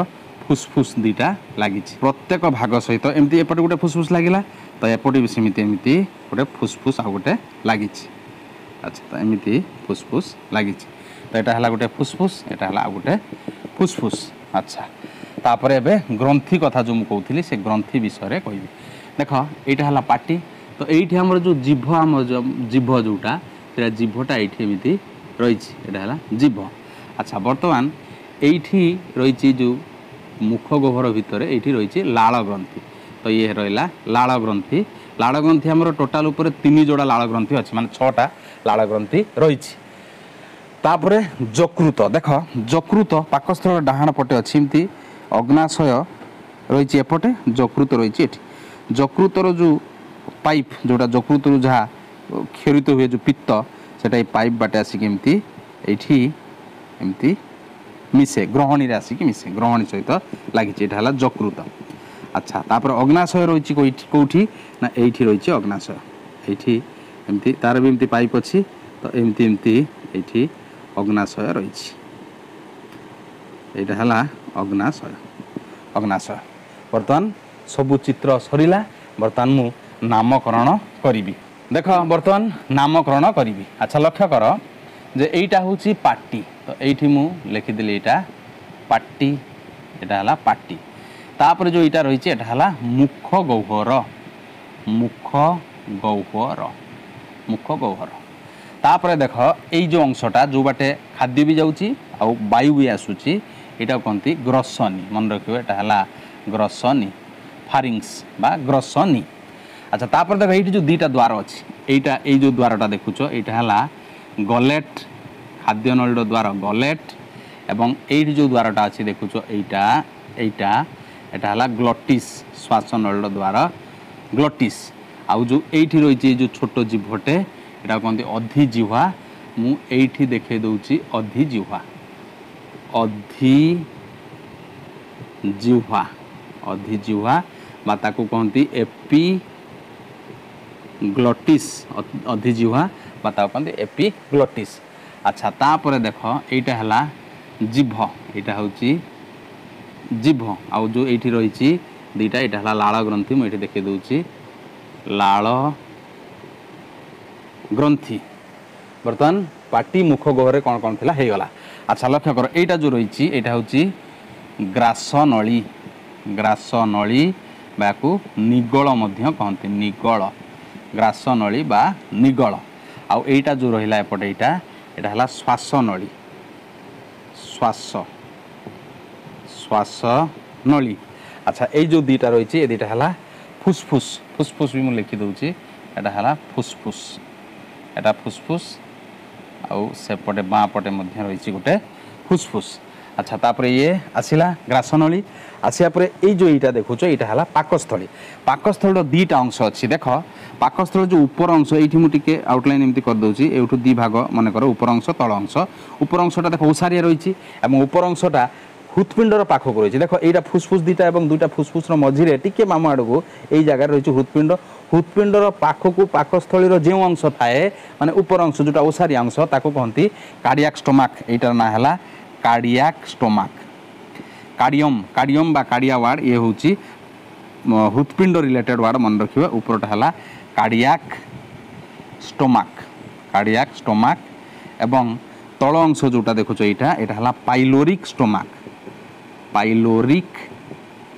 ଫୁସଫୁସ ଦୁଇଟା ଲାଗିଛି। ପ୍ରତ୍ୟେକ ଭାଗ ସହିତ ଏମିତି ଏପଟେ ଗୋଟେ ଫୁସଫୁସ ଲାଗିଲା, ତ ଏପଟେ ବି ସେମିତି ଏମିତି ଗୋଟେ ଫୁସଫୁସ ଆଉ ଗୋଟେ ଲାଗିଛି। ଆଚ୍ଛା, ତ ଏମିତି ଫୁସଫୁସ ଲାଗିଛି। ତ ଏଇଟା ହେଲା ଗୋଟେ ଫୁସଫୁସ, ଏଇଟା ହେଲା ଆଉ ଗୋଟେ ଫୁସଫୁସ। ଆଚ୍ଛା, ତାପରେ ଏବେ ଗ୍ରନ୍ଥି କଥା ଯେଉଁ ମୁଁ କହୁଥିଲି ସେ ଗ୍ରନ୍ଥି ବିଷୟରେ କହିବି। ଦେଖ, ଏଇଟା ହେଲା ପାଟି। ତ ଏଇଠି ଆମର ଯେଉଁ ଜିଭ, ଆମ ଜିଭ ଯେଉଁଟା, ସେଇଟା ଜିଭଟା ଏଇଠି ଏମିତି ରହିଛି, ଏଇଟା ହେଲା ଜିଭ। ଆଚ୍ଛା, ବର୍ତ୍ତମାନ ଏଇଠି ରହିଛି ଯେଉଁ ମୁଖ ଗହ୍ୱର ଭିତରେ ଏଇଠି ରହିଛି ଲାଳ ଗ୍ରନ୍ଥି। ତ ଇଏ ରହିଲା ଲାଳ ଗ୍ରନ୍ଥି। ଲାଳ ଗ୍ରନ୍ଥି ଆମର ଟୋଟାଲ ଉପରେ ତିନି ଯୋଡ଼ା ଲାଳ ଗ୍ରନ୍ଥି ଅଛି, ମାନେ ଛଅଟା ଲାଳ ଗ୍ରନ୍ଥି ରହିଛି। ତାପରେ ଯକୃତ। ଦେଖ, ଯକୃତ ପାକସ୍ଥଳର ଡାହାଣ ପଟେ ଅଛି, ଏମିତି ଅଗ୍ନାଶୟ ରହିଛି ଏପଟେ, ଯକୃତ ରହିଛି ଏଠି। ଯକୃତର ଯେଉଁ ପାଇପ୍, ଯେଉଁଟା ଯକୃତରୁ ଯାହା କ୍ଷରିତ ହୁଏ ଯେଉଁ ପିତ୍ତ, ସେଟା ଏଇ ପାଇପ୍ ବାଟେ ଆସିକି ଏମିତି ଏଇଠି ଏମିତି ମିଶେ, ଗ୍ରହଣୀରେ ଆସିକି ମିଶେ, ଗ୍ରହଣୀ ସହିତ ଲାଗିଛି। ଏଇଟା ହେଲା ଯକୃତ। ଆଚ୍ଛା, ତାପରେ ଅଗ୍ନାଶୟ ରହିଛି କେଉଁଠି ନା ଏଇଠି ରହିଛି ଅଗ୍ନାଶୟ। ଏଇଠି ଏମିତି ତାର ବି ଏମିତି ପାଇପ୍ ଅଛି, ତ ଏମିତି ଏମିତି ଏଇଠି ଅଗ୍ନାଶୟ ରହିଛି। ଏଇଟା ହେଲା ଅଗ୍ନାଶୟ। ଅଗ୍ନାଶୟ। ବର୍ତ୍ତମାନ ସବୁ ଚିତ୍ର ସରିଲା। ବର୍ତ୍ତମାନ ମୁଁ ନାମକରଣ କରିବି। ଦେଖ, ବର୍ତ୍ତମାନ ନାମକରଣ କରିବି। ଆଚ୍ଛା, ଲକ୍ଷ୍ୟ କର ଯେ ଏଇଟା ହେଉଛି ପାଟି। ତ ଏଇଠି ମୁଁ ଲେଖିଦେଲି ଏଇଟା ପାଟି, ଏଇଟା ହେଲା ପାଟି। ତାପରେ ଯେଉଁ ଏଇଟା ରହିଛି ଏଇଟା ହେଲା ମୁଖ ଗହ୍ୱର, ମୁଖ ଗହ୍ୱର, ମୁଖ ଗହ୍ୱର। ତାପରେ ଦେଖ, ଏଇ ଯେଉଁ ଅଂଶଟା ଯେଉଁ ବାଟେ ଖାଦ୍ୟ ବି ଯାଉଛି ଆଉ ବାୟୁ ବି ଆସୁଛି, ଏଇଟାକୁ କହନ୍ତି ଗ୍ରସନୀ। ମନେ ରଖିବ, ଏଇଟା ହେଲା ଗ୍ରସନୀ, ଫାରିଙ୍ଗସ୍ ବା ଗ୍ରସନୀ। ଆଚ୍ଛା, ତାପରେ ଦେଖ ଏଇଠି ଯେଉଁ ଦୁଇଟା ଦ୍ୱାର ଅଛି, ଏଇଟା ଏଇ ଯେଉଁ ଦ୍ୱାରଟା ଦେଖୁଛ ଏଇଟା ହେଲା ଗଲେଟ୍, ଖାଦ୍ୟନଳୀର ଦ୍ୱାର ଗଲେଟ୍। ଏବଂ ଏଇଠି ଯେଉଁ ଦ୍ୱାରଟା ଅଛି ଦେଖୁଛ ଏଇଟା, ଏଇଟା ଏଇଟା ହେଲା ଗ୍ଲଟିସ୍, ଶ୍ୱାସନଳୀର ଦ୍ୱାର ଗ୍ଲଟିସ୍। ଆଉ ଯେଉଁ ଏଇଠି ରହିଛି ଏଇ ଯେଉଁ ଛୋଟ ଜିଭଟେ, ଏଇଟା କହନ୍ତି ଅଧିଜିହ୍ୱା। ମୁଁ ଏଇଠି ଦେଖେଇ ଦେଉଛି ଅଧିଜିହ୍ୱା, ଅଧିଜିହ୍ୱା, ଅଧିଜିହ୍ୱା ବା ତାକୁ କହନ୍ତି ଏପି ଗ୍ଲଟିସ୍, ଅଧିଜିହ୍ୱା ବା ତାକୁ କହନ୍ତି ଏପି ଗ୍ଲଟିସ୍। ଆଚ୍ଛା, ତାପରେ ଦେଖ ଏଇଟା ହେଲା ଜିଭ, ଏଇଟା ହେଉଛି ଜିଭ। ଆଉ ଯେଉଁ ଏଇଠି ରହିଛି ଦୁଇଟା, ଏଇଟା ହେଲା ଲାଳ ଗ୍ରନ୍ଥି। ମୁଁ ଏଇଠି ଦେଖେଇ ଦେଉଛି ଲାଳ ଗ୍ରନ୍ଥି। ବର୍ତ୍ତମାନ ପାଟି ମୁଖ ଗହ୍ୱରରେ କ'ଣ କ'ଣ ଥିଲା ହେଇଗଲା। ଆଚ୍ଛା, ଲକ୍ଷ୍ୟ କର ଏଇଟା ଯେଉଁ ରହିଛି ଏଇଟା ହେଉଛି ଗ୍ରାସନଳୀ, ଗ୍ରାସନଳୀ ବା ୟାକୁ ନିଗଳ ମଧ୍ୟ କହନ୍ତି, ନିଗଳ, ଗ୍ରାସନଳୀ ବା ନିଗଳ। ଆଉ ଏଇଟା ଯେଉଁ ରହିଲା ଏପଟେ ଏଇଟା, ଏଇଟା ହେଲା ଶ୍ୱାସନଳୀ, ଶ୍ୱାସ, ଶ୍ୱାସନଳୀ। ଆଚ୍ଛା, ଏଇ ଯେଉଁ ଦୁଇଟା ରହିଛି ଏ ଦୁଇଟା ହେଲା ଫୁସଫୁସ, ଫୁସଫୁସ ବି ମୁଁ ଲେଖିଦେଉଛି, ଏଇଟା ହେଲା ଫୁସଫୁସ, ଏଇଟା ଫୁସଫୁସ। ଆଉ ସେପଟେ ବାଁ ପଟେ ମଧ୍ୟ ରହିଛି ଗୋଟେ ଫୁସଫୁସ। ଆଚ୍ଛା, ତାପରେ ଇଏ ଆସିଲା ଗ୍ରାସନଳୀ। ଆସିବା ପରେ ଏଇ ଯେଉଁ ଏଇଟା ଦେଖୁଛ ଏଇଟା ହେଲା ପାକସ୍ଥଳୀ। ପାକସ୍ଥଳୀର ଦୁଇଟା ଅଂଶ ଅଛି। ଦେଖ, ପାକସ୍ଥଳୀ ଯେଉଁ ଉପର ଅଂଶ, ଏଇଠି ମୁଁ ଟିକେ ଆଉଟଲାଇନ୍ ଏମିତି କରିଦେଉଛି, ଏଇଠୁ ଦୁଇ ଭାଗ ମନେକର, ଉପର ଅଂଶ ତଳ ଅଂଶ। ଉପର ଅଂଶଟା ଦେଖ ଓସାରିଆ ରହିଛି ଏବଂ ଉପର ଅଂଶଟା ହୃତ୍ପିଣ୍ଡର ପାଖକୁ ରହିଛି। ଦେଖ, ଏଇଟା ଫୁସଫୁସ ଦୁଇଟା ଏବଂ ଦୁଇଟା ଫୁସଫୁସର ମଝିରେ ଟିକେ ମାମୁ ଆଡ଼କୁ ଏଇ ଜାଗାରେ ରହିଛି ହୃତ୍ପିଣ୍ଡ। ହୃତ୍ପିଣ୍ଡର ପାଖକୁ ପାକସ୍ଥଳୀର ଯେଉଁ ଅଂଶ ଥାଏ, ମାନେ ଉପର ଅଂଶ ଯେଉଁଟା ଓସାରିଆ ଅଂଶ, ତାକୁ କହନ୍ତି କାର୍ଡ଼ିଆକ୍ ଷ୍ଟୋମାକ୍। ଏଇଟାର ନାଁ ହେଲା କାର୍ଡ଼ିଆକ୍ ଷ୍ଟୋମାକ୍। କାର୍ଡ଼ିୟମ୍, କାର୍ଡ଼ିୟମ୍ ବା କାର୍ଡ଼ିଆ ୱାର୍ଡ଼, ଇଏ ହେଉଛି ହୃତ୍ପିଣ୍ଡ ରିଲେଟେଡ୍ ୱାର୍ଡ଼, ମନେ ରଖିବେ। ଉପରଟା ହେଲା କାର୍ଡ଼ିଆକ୍ ଷ୍ଟୋମାକ୍, କାର୍ଡ଼ିଆକ୍ ଷ୍ଟୋମାକ୍। ଏବଂ ତଳ ଅଂଶ ଯେଉଁଟା ଦେଖୁଛ ଏଇଟା, ଏଇଟା ହେଲା pyloric stomach, pyloric,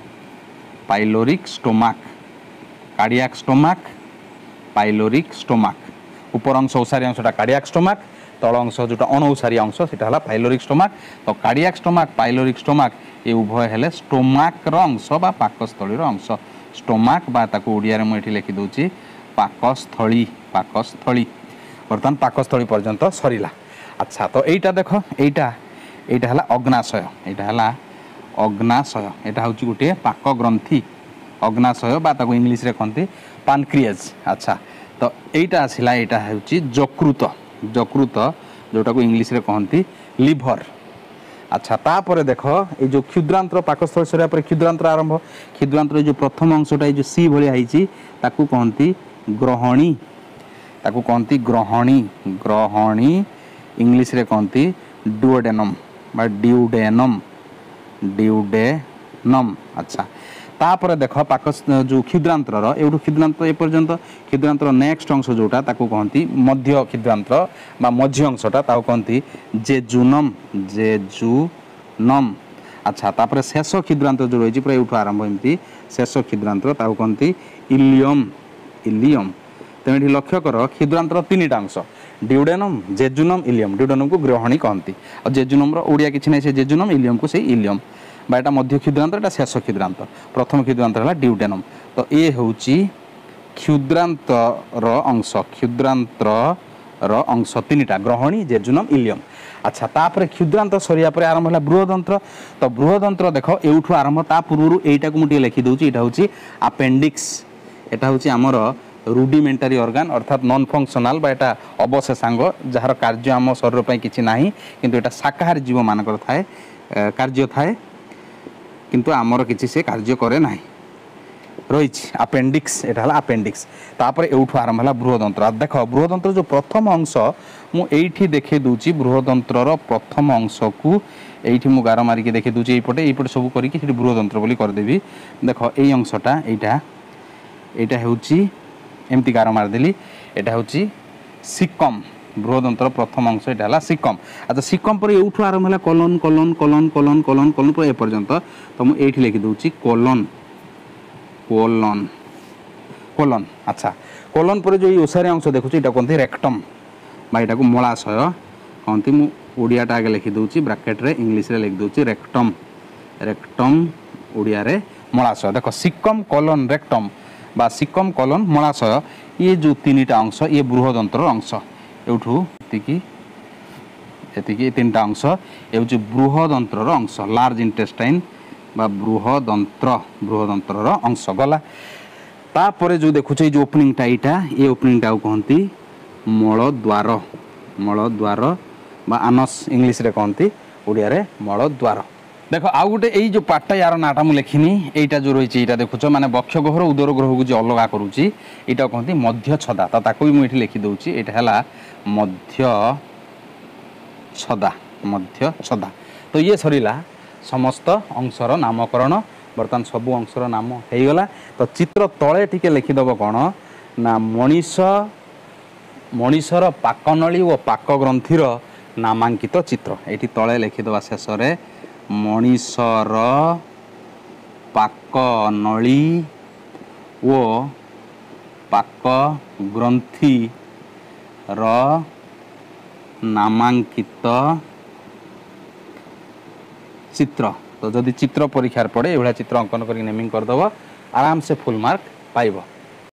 pyloric stomach, cardiac stomach, pyloric stomach. ଉପର ଅଂଶ ଓସାରି ଅଂଶଟା କାର୍ଡ଼ିଆକ୍ ଷ୍ଟୋମାକ୍, ତଳ ଅଂଶ ଯେଉଁଟା ଅଣଓସାରି ଅଂଶ ସେଟା ହେଲା ପାଇଲୋରିକ୍ ଷ୍ଟୋମାକ୍। ତ କାର୍ଡ଼ିଆକ୍ ଷ୍ଟୋମାକ୍, ପାଇଲୋରିକ୍ ଷ୍ଟୋମାକ୍ ଏ ଉଭୟ ହେଲେ ଷ୍ଟୋମାକ୍ର ଅଂଶ ବା ପାକସ୍ଥଳୀର ଅଂଶ। ଷ୍ଟୋମାକ୍ ବା ତାକୁ ଓଡ଼ିଆରେ ମୁଁ ଏଠି ଲେଖିଦେଉଛି ପାକସ୍ଥଳୀ, ପାକସ୍ଥଳୀ। ବର୍ତ୍ତମାନ ପାକସ୍ଥଳୀ ପର୍ଯ୍ୟନ୍ତ ସରିଲା। ଆଚ୍ଛା, ତ ଏଇଟା ଦେଖ, ଏଇଟା ଏଇଟା ହେଲା ଅଗ୍ନାଶୟ, ଏଇଟା ହେଲା ଅଗ୍ନାଶୟ। ଏଇଟା ହେଉଛି ଗୋଟିଏ ପାକ ଗ୍ରନ୍ଥି, ଅଗ୍ନାଶୟ ବା ତାକୁ ଇଂଲିଶରେ କହନ୍ତି ପାନକ୍ରିଏଜ୍। ଆଚ୍ଛା, ତ ଏଇଟା ଆସିଲା, ଏଇଟା ହେଉଛି ଯକୃତ, ଯକୃତ ଯେଉଁଟାକୁ ଇଂଲିଶରେ କହନ୍ତି ଲିଭର। ଆଚ୍ଛା, ତାପରେ ଦେଖ ଏଇ ଯେଉଁ କ୍ଷୁଦ୍ରାନ୍ତ୍ର, ପାକସ୍ଥଳୀ ସରିବା ପରେ କ୍ଷୁଦ୍ରାନ୍ତ୍ର ଆରମ୍ଭ। କ୍ଷୁଦ୍ରାନ୍ତ୍ର ଏଇ ଯେଉଁ ପ୍ରଥମ ଅଂଶଟା ଏଇ ଯେଉଁ ସି ଭଳିଆ ହେଇଛି ତାକୁ କହନ୍ତି ଗ୍ରହଣୀ, ତାକୁ କହନ୍ତି ଗ୍ରହଣୀ, ଗ୍ରହଣୀ ଇଂଲିଶରେ କହନ୍ତି ଡୁଓଡେନମ୍ ବା ଡିଉଡେନମ୍ ଡିଉଡେନମ୍ ଆଚ୍ଛା ତାପରେ ଦେଖ ପାକ ଯେଉଁ କ୍ଷୁଦ୍ରାନ୍ତ୍ରର ଏଇଠୁ କ୍ଷୁଦ୍ରାନ୍ତ୍ର ଏ ପର୍ଯ୍ୟନ୍ତ କ୍ଷୁଦ୍ରାନ୍ତ୍ର ନେକ୍ସଟ ଅଂଶ ଯେଉଁଟା ତାକୁ କହନ୍ତି ମଧ୍ୟ କ୍ଷୁଦ୍ରାନ୍ତ୍ର ବା ମଝି ଅଂଶଟା ତାକୁ କହନ୍ତି ଜେଜୁନମ୍ ଜେଜୁନମ୍ ଆଚ୍ଛା ତାପରେ ଶେଷ କ୍ଷୁଦ୍ରାନ୍ତ୍ର ଯେଉଁ ରହିଛି ପୁରା ଏଇଠୁ ଆରମ୍ଭ ଏମିତି ଶେଷ କ୍ଷୁଦ୍ରାନ୍ତ୍ର ତାକୁ କହନ୍ତି ଇଲିୟମ୍ ଇଲିୟମ୍ ତେଣୁ ଏଠି ଲକ୍ଷ୍ୟ କର କ୍ଷୁଦ୍ରାନ୍ତ୍ର ତିନିଟା ଅଂଶ ଡିଉଡେନମ୍ ଜେଜୁନମ୍ ଇଲିୟମ୍ ଡିଉଡେନମ୍କୁ ଗ୍ରହଣୀ କହନ୍ତି ଆଉ ଜେଜୁନମ୍ର ଓଡ଼ିଆ କିଛି ନାହିଁ ସେ ଜେଜୁନମ୍ ଇଲିୟମ୍କୁ ସେଇ ଇଲିୟମ୍ ବା ଏଟା ମଧ୍ୟ କ୍ଷୁଦ୍ରାନ୍ତ ଏଟା ଶେଷ କ୍ଷୁଦ୍ରାନ୍ତ ପ୍ରଥମ କ୍ଷୁଦ୍ରାନ୍ତ ହେଲା ଡିଉଡେନମ୍ ତ ଏ ହେଉଛି କ୍ଷୁଦ୍ରାନ୍ତର ଅଂଶ କ୍ଷୁଦ୍ରାନ୍ତର ଅଂଶ ତିନିଟା ଗ୍ରହଣୀ ଜେଜୁନମ୍ ଇଲିୟମ୍ ଆଚ୍ଛା ତାପରେ କ୍ଷୁଦ୍ରାନ୍ତ ସରିବା ପରେ ଆରମ୍ଭ ହେଲା ବୃହଦନ୍ତ୍ର ତ ବୃହଦନ୍ତ୍ର ଦେଖ ଏଇଠୁ ଆରମ୍ଭ ତା ପୂର୍ବରୁ ଏଇଟାକୁ ମୁଁ ଟିକେ ଲେଖିଦେଉଛି ଏଇଟା ହେଉଛି ଆପେଣ୍ଡିକ୍ସ ଏଟା ହେଉଛି ଆମର ରୁଡିମେଣ୍ଟାରୀ ଅର୍ଗାନ ଅର୍ଥାତ୍ ନନ୍ ଫଙ୍କସନାଲ ବା ଏଟା ଅବଶେଷାଙ୍ଗ ଯାହାର କାର୍ଯ୍ୟ ଆମ ଶରୀର ପାଇଁ କିଛି ନାହିଁ କିନ୍ତୁ ଏଟା ଶାକାହାରୀ ଜୀବମାନଙ୍କର ଥାଏ କାର୍ଯ୍ୟ ଥାଏ କିନ୍ତୁ ଆମର କିଛି ସେ କାର୍ଯ୍ୟ କରେ ନାହିଁ ରହିଛି ଆପେଣ୍ଡିକ୍ସ ଏଟା ହେଲା ଆପେଣ୍ଡିକ୍ସ ତାପରେ ଏଉଠୁ ଆରମ୍ଭ ହେଲା ବୃହଦନ୍ତ୍ର ଆଉ ଦେଖ ବୃହଦନ୍ତ୍ର ଯେଉଁ ପ୍ରଥମ ଅଂଶ ମୁଁ ଏଇଠି ଦେଖେଇ ଦେଉଛି ବୃହଦନ୍ତ୍ରର ପ୍ରଥମ ଅଂଶକୁ ଏଇଠି ମୁଁ ଗାର ମାରିକି ଦେଖେଇ ଦେଉଛି ଏଇପଟେ ଏଇପଟେ ସବୁ କରିକି ସେଠି ବୃହଦନ୍ତ୍ର ବୋଲି କରିଦେବି ଦେଖ ଏଇ ଅଂଶଟା ଏଇଟା ଏଇଟା ହେଉଛି ଏମିତି ଗାର ମାରିଦେଲି ଏଇଟା ହେଉଛି ସିକମ୍ ବୃହଦନ୍ତ୍ର ପ୍ରଥମ ଅଂଶ ଏଇଟା ହେଲା ସିକମ୍ ଆଚ୍ଛା ସିକମ୍ ପରେ ଏଉଠୁ ଆରମ୍ଭ ହେଲା colon colon colon colon colon colon ପୁରା ଏ ପର୍ଯ୍ୟନ୍ତ ତ ମୁଁ ଏଇଠି ଲେଖିଦେଉଛି କୋଲନ୍ କୋଲନ୍ କୋଲନ୍ ଆଚ୍ଛା କୋଲନ୍ ପରେ ଯେଉଁ ଏଇ ଓସାରିଆ ଅଂଶ ଦେଖୁଛି ଏଇଟା କୁହନ୍ତି ରେକ୍ଟମ୍ ବା ଏଇଟାକୁ ମଳାଶୟ କହନ୍ତି ମୁଁ ଓଡ଼ିଆଟା ଆଗେ ଲେଖିଦେଉଛି ବ୍ରାକେଟ୍ରେ ଇଂଲିଶରେ ଲେଖିଦେଉଛି ରେକ୍ଟମ୍ ରେକ୍ଟମ୍ ଓଡ଼ିଆରେ ମଳାଶୟ ଦେଖ ସିକମ୍ କୋଲନ୍ ରେକ୍ଟମ୍ ବା ସିକମ୍ କୋଲନ୍ ମଳାଶୟ ଇଏ ଯେଉଁ ତିନିଟା ଅଂଶ ଇଏ ବୃହଦନ୍ତ୍ରର ଅଂଶ ଏଉଠୁ ଏତିକି ଏତିକି ତିନିଟା ଅଂଶ ଏ ହେଉଛି ବୃହଦନ୍ତ୍ରର ଅଂଶ ଲାର୍ଜ ଇଣ୍ଟେଷ୍ଟାଇନ୍ ବା ବୃହଦନ୍ତ୍ର ବୃହଦନ୍ତ୍ରର ଅଂଶ ଗଲା ତାପରେ ଯେଉଁ ଦେଖୁଛ ଏଇ ଯେଉଁ ଓପନିଂଟା ଏଇଟା ଏ ଓପନିଂଟାକୁ କହନ୍ତି ମଳଦ୍ୱାର ମଳଦ୍ୱାର ବା ଆନସ୍ ଇଂଲିଶରେ କହନ୍ତି ଓଡ଼ିଆରେ ମଳଦ୍ୱାର ଦେଖ ଆଉ ଗୋଟେ ଏଇ ଯେଉଁ ପାର୍ଟଟା ୟାର ନାଁଟା ମୁଁ ଲେଖିନି ଏଇଟା ଯେଉଁ ରହିଛି ଏଇଟା ଦେଖୁଛ ମାନେ ବକ୍ଷ ଗହ୍ୱର ଉଦର ଗହ୍ୱରକୁ ଯେ ଅଲଗା କରୁଛି ଏଇଟା କହନ୍ତି ମଧ୍ୟଛଦା ତ ତାକୁ ବି ମୁଁ ଏଠି ଲେଖିଦେଉଛି ଏଇଟା ହେଲା ମଧ୍ୟ ଛଦା ମଧ୍ୟଛଦା ତ ଇଏ ସରିଲା ସମସ୍ତ ଅଂଶର ନାମକରଣ ବର୍ତ୍ତମାନ ସବୁ ଅଂଶର ନାମ ହେଇଗଲା ତ ଚିତ୍ର ତଳେ ଟିକେ ଲେଖିଦେବ କ'ଣ ନା ମଣିଷ ମଣିଷର ପାକନଳୀ ଓ ପାକ ଗ୍ରନ୍ଥିର ନାମାଙ୍କିତ ଚିତ୍ର ଏଇଠି ତଳେ ଲେଖିଦେବା ଶେଷରେ ମଣିଷର ପାକନଳୀ ଓ ପାକ ଗ୍ରନ୍ଥିର ନାମାଙ୍କିତ ଚିତ୍ର ତ ଯଦି ଚିତ୍ର ପରୀକ୍ଷାରେ ପଡ଼େ ଏଇଭଳିଆ ଚିତ୍ର ଅଙ୍କନ କରିକି ନେମିଂ କରିଦେବ ଆରାମସେ ଫୁଲ୍ ମାର୍କ ପାଇବ